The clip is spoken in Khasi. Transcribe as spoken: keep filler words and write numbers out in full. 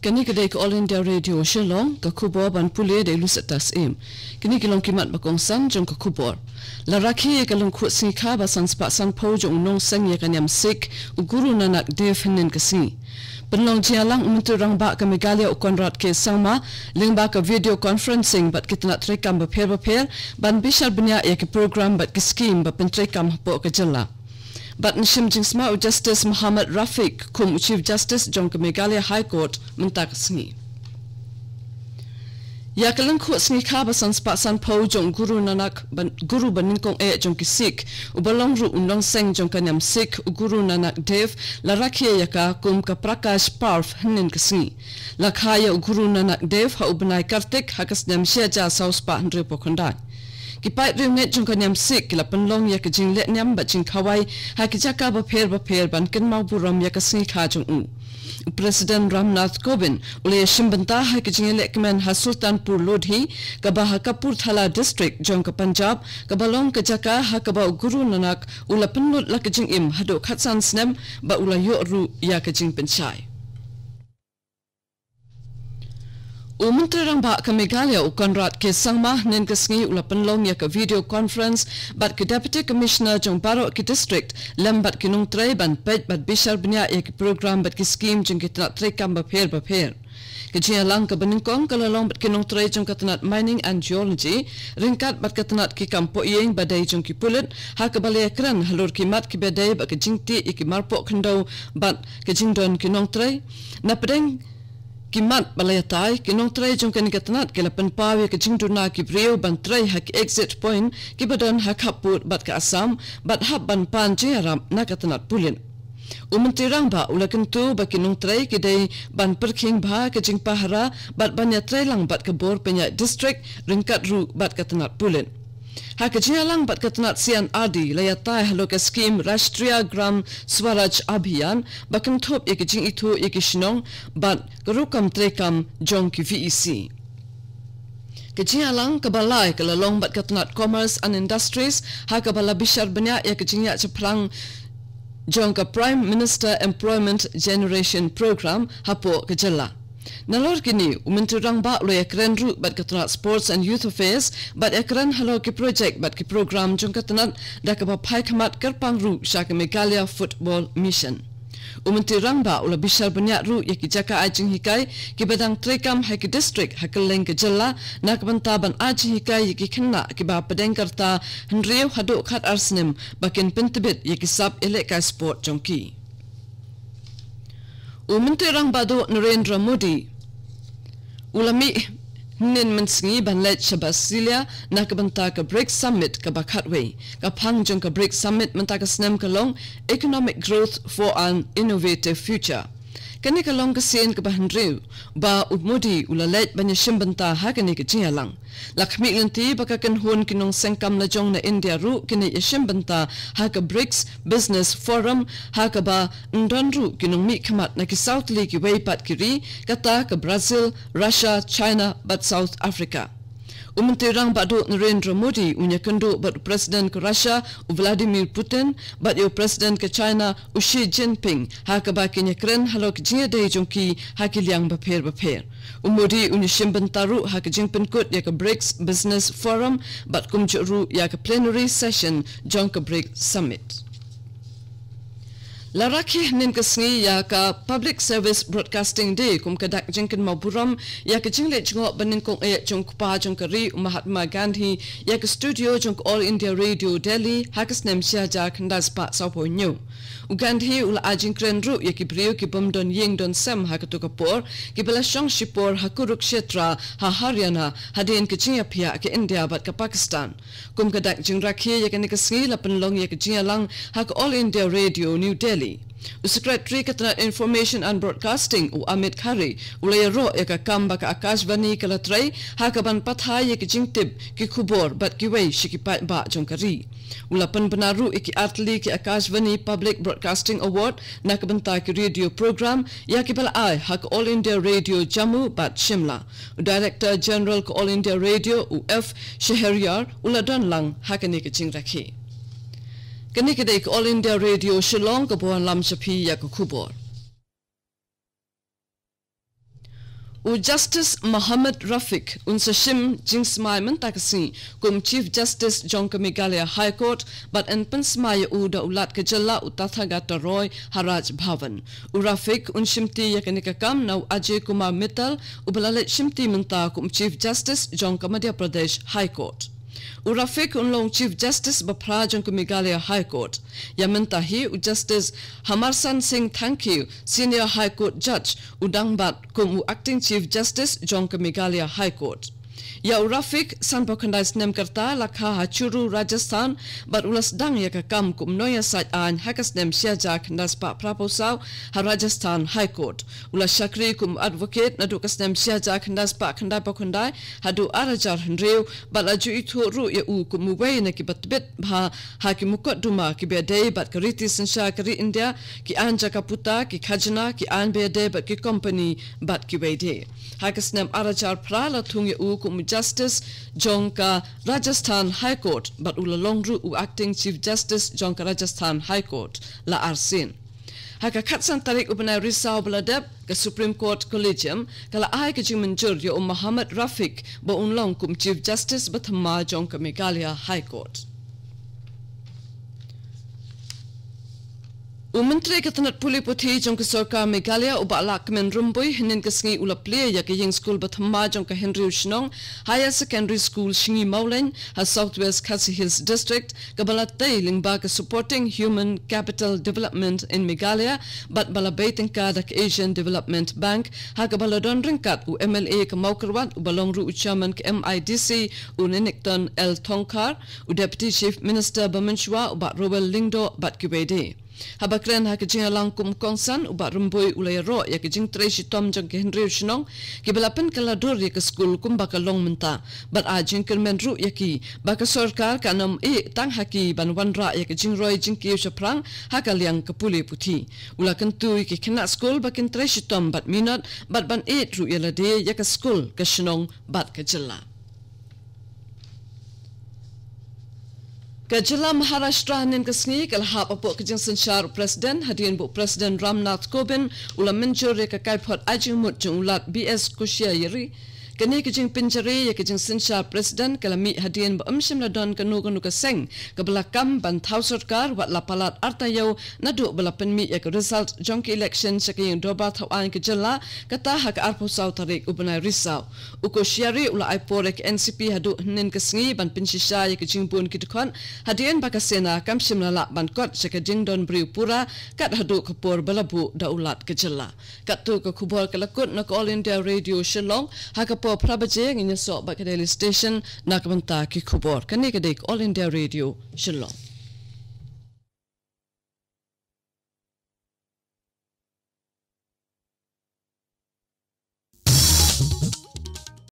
Kane ka dei ka All India Radio Shillong, ka khubor ban pule da i Lucetta Syiem. Kine ki long ki mat ba kongsan jong ka khubor. La rakhe ïa ka lyngkhuh sngi kha ba san spah san phew jong u nongseng ïa ka niam Sikh, u Guru Nanak Dev hynnin ka sngi. Pynlong jingïalang u Myntri Rangbah ka Meghalaya u Conrad K Sangma, lyngba ka video conferencing bad ki tnat treikam bapher bapher, ban bishar bniah ïa ki program bad ki skim ba pyntreikam hapoh ka jylla. Bad yn shim jingsma u Justice Mohammad Rafiq kum u Chief Justice jong ka Meghalaya High Court mynta ka sngi. Ïa ka lyngkhuh sngi kha ba san spah san phew jong u Guru Nanak ban, Guru banyngkong eh jong ki Sikh, uba long ruh u nongseng jong ka niam Sikh, u Guru Nanak Dev, la rakhe ïa ka kum ka Prakash Parv hynnin ka sngi. La kha ïa u Guru Nanak Dev ha u bnai Kartik ha ka snem shi hajar saw spah hynriew phew khyndai. Ki paid riewngeit jong ka niam Sikh ki la pynlong ïa ka jingleh niam bad jingkhawai ha ki jaka bapher bapher ban kynmaw burom ïa ka sngi kha jong u. U President Ram Nath Kovind u la ïashim bynta ha ka jingïalehkmen ha Sultanpur Lodhi, kaba ha Kapurthala District jong ka Punjab, kaba long ka jaka ha kaba u Guru Nanak u la pynlut la ka jingim haduh khatsan snem bad u la ïoh ruh ïa ka jingpynshai. U Myntri Rangbah ka Meghalaya u Conrad K Sangma hynnin ka sngi u la pynlong ïa ka video conference bad ki Deputy Commissioner jong baroh ki district lem bad ki nongtrei ban peit bad bishar bniah ïa ki program bad ki skim jong ki tnat treikam bapher bapher. Ka jingïalang kaba nyngkong ka la long bad ki nongtrei jong ka tnat Mining and Geology, ryngkat bad ka tnat ki kam pohïing ba dei jong ki pulit, ha kaba la ïakren halor ki mat kiba dei bad ka jingtih ïa ki marpoh khyndew bad ka jingdon ki nongtrei. Na pdeng ki mat ba la ïatai, ki nongtrei jong kane ka tnat ki la pynpaw ïa ka jingduna ki briew ban trei ha ki exit point kiba don ha khappud bad ka Assam, bad hap ban pan jingïarap na ka tnat pulit. U Myntri Rangbah u la kyntu ba ki nongtrei ki dei ban pyrkhing bha ka jingpahara bad ban ïatrei lang bad ka bor pynïaid district ryngkat ruh bad ka tnat pulit. Ha ka jingïalang bad ka tnat C and R D la ïatai halor ka skim Rashtriya Gram Swaraj Abhiyan ba kynthup ïa ka jingithuh ïa ki shnong bad ka rukom treikam jong ki V E C. Ka jingïalang kaba lai ka la long bad ka tnat Commerce and Industries ha kaba la bishar bniah ïa ka jingïaid shaphrang jong ka Prime Minister Employment Generation Program hapoh ka jylla. Nalor kine, u Myntri Rangbah u la ïakren ruh bad ka tnat Sports and Youth Affairs, bad ïakren halor ki project bad ki program jong ka tnat da kaba phai khmat kyrpang ruh sha ka Meghalaya Football Mission. U Myntri Rangbah u la bishar bniah ruh ïa ki jaka ai jinghikai kiba dang treikam ha ki district ha kylleng ka jylla na ka bynta ban ai jinghikai ïa ki khynnah kiba hapdeng ka rta hynriew haduh khatar snem ba kin pyntbit ïa ki sap ïalehkai sport jong ki. U Myntri Rangbah Duh Narendra Modi u la mih hynnin mynsngi ban leit sha Brasilia na ka bynta ka BRICS Summit kaba khatwei. Ka phang jong ka BRICS Summit mynta ka snem ka long Economic Growth for an Innovative Future. Kane ka long ka sien kaba hynriew ba u Modi u la leit ban ïashim bynta ha kane ka jingïalang. La khmih lynti ba ka kynhun ki nongsengkam lajong na India ruh kin ïashim bynta ha ka BRICS Business Forum, ha kaba yn don ruh ki nongmihkhmat na ki saw tylli kiwei pat ki ri, kata ka Brazil, Russia, China bad South Africa. U Myntri Rangbah Duh Narendra Modi un ïakynduh bad u President ka Russia u Vladimir Putin bad ïa u President ka China u Xi Jinping, ha kaba kin ïakren halor ki jingïadei jong ki ha ki liang bapher bapher. U Modi un ïashim bynta ruh ha ka jingpynkut ïa ka BRICS Business Forum bad kumjuh ruh ïa ka plenary session jong ka BRICS Summit. La rakhe hynnin ka sngi ïa ka Public Service Broadcasting Day kum ka dak jingkynmaw burom ïa ka jingleit jngoh banyngkong eh jong u kpa jong ka ri u Mahatma Gandhi ïa ka studio jong ka All India Radio Delhi ha ka snem shi hajar khyndai spah sawphew hynñiew. U Gandhi u la ai jingkren ruh ïa ki briew ki bym don ïing don sem ha kato ka por, kiba la shong shipor ha Kurukshetra ha Haryana hadien ka jingïaphiah ka India bad ka Pakistan. Kum ka dak jingrakhe ïa kane ka sngi la pynlong ïa ka jingïalang ha ka All India Radio New Delhi. U Secretary ka tnat Information and Broadcasting u Amit Khare u la ïaroh ïa ka kam ba ka Akashvani ka la trei ha kaban pathai ïa ka jingtip, ki khubor bad kiwei sha ki paidbah jong ka ri. U la pynbna ruh ïa ki artylli ki Akashvani Public Broadcasting Award na ka bynta ki radio program ïa kiba la ai ha ka All India Radio Jammu bad Shimla. U Director General ka All India Radio u F Shahryar u la don lang ha kane ka jingrakhe. Kane ka dei ka All India Radio Shillong kaba wanlam sha phi ïa ka khubor. U Justice Mohammad Rafiq un sa shim jingsmai mynta ka sngi kum Chief Justice jong ka Meghalaya High Court, bad yn pynsmai ïa u da u Lat ka jylla u Tathagata Roy ha Raj Bhavan. U Rafiq un shimti ïa kane ka kam na u Ajay Kumar Mittal, uba la leit shimti mynta kum Chief Justice jong ka Madhya Pradesh High Court. U Rafiq un long Chief Justice ba phra jong ka Meghalaya High Court. Ïa mynta hi u Justice Hamarsan Singh Thangkhiew, Senior High Court Judge, u dang bat kum u Acting Chief Justice jong ka Meghalaya High Court. Ïa u Rafiq, sanphew khyndai snem ka rta, la kha ha Churu, Rajasthan, bad u la sdang ïa ka kam kum nongïasaid aiñ ha ka snem shi hajar khyndai spah phraphew saw ha Rajasthan High Court. U la shakri kum advocate naduh ka snem shi hajar khyndai spah khyndaiphew khyndai haduh ar hajar hynriew, bad la ju ithuh ruh ïa u kum uwei na kiba tbit bha ha ki mukotduma kiba ïadei bad ka riti synshar ka ri India, ki aiñ jaka puta, ki khajna, ki aiñ ba ïadei bad ki company, bad kiwei de. Ha ka snem ar hajar phra la thung ïa u kum u Justice jong ka Rajasthan High Court, bad u la long ruh u Acting Chief Justice jong ka Rajasthan High Court la arsien. Ha ka khatsan tarik u bnai Risaw ba la dep, ka Supreme Court Collegium ka la ai ka jingmynjur ïa u Mohammad Rafiq ba un long kum Chief Justice ba thymmai jong ka Meghalaya High Court. U Myntri ka tnat pule puthi jong ka sorkar Meghalaya, u Bah Lahkmen Rymbui, hynnin ka sngi u la plie ïa ka ïing skul ba thymmai jong ka Hynriew Shnong Higher Secondary School Shngimawlein ha South West Khasi Hills District, kaba la tei lyngba ka Supporting Human Capital Development in Meghalaya, bad ba la bei tyngka da ka Asian Development Bank, ha kaba la don ryngkat u M L A ka Mawkyrwat, uba long ruh u Chairman ka M I D C, u Ninikton L Thongkhar, u Deputy Chief Minister ba mynshuwa, u Bah Rowell Lyngdoh, bad kiwei de. Haba kren ha ka jingïalang kum u kongsan, u Bah Rymbui u la ïaroh ïa ka jingtrei shitom jong ka Hynriew Shnong, kiba la pynkylla dur ïa ka skul kumba ka long mynta. Bad ai jingkyrmen ruh ïa ki ba ka sorkar kan ym ïeh tang ha ki ban wanrah ïa ka jingroi jingkiew shaphrang ha ka liang ka pule puthi. U la kyntu ïa ki khynnah skul ba kin trei shitom bad minot, bad ban ïeit ruh ïa lade, ïa ka skul, ka shnong bad ka jylla. Ka jylla Maharashtra hynnin ka sngi ka la hap hapoh ka jingsynshar u President, hadien ba u President Ram Nath Kovind u la mynjur ïa ka kaiphod ai jingmut jong u Lat B S Koshyari. Kane ka jingpynjari ïa ka jingsynshar President ka la mih hadien ba ym shym la don kano kano ka seng kaba la kam ban thaw sorkar, wat la palat ar taïew naduh ba la pynmih ïa ka result jong ka election sha ka ïing dorbar thaw aiñ ka jylla, kata ha ka arphew saw tarik u bnai Risaw. U Koshyari u la ai por ïa ka N C P haduh hynnin ka sngi ban pynshisha ïa ka jingbun ki dkhot, hadien ba ka sena kam shym la lah ban kot sha ka jingdon briew pura, kat haduh ka por ba la buh da u Lat ka jylla. Katto ka khubor ka la kut na ka All India Radio Shillong, ha ka por phra baje ngin ïasoh bad ka Delhi Station na ka bynta ki khubor. Kane ka dei ka All India Radio Shillong.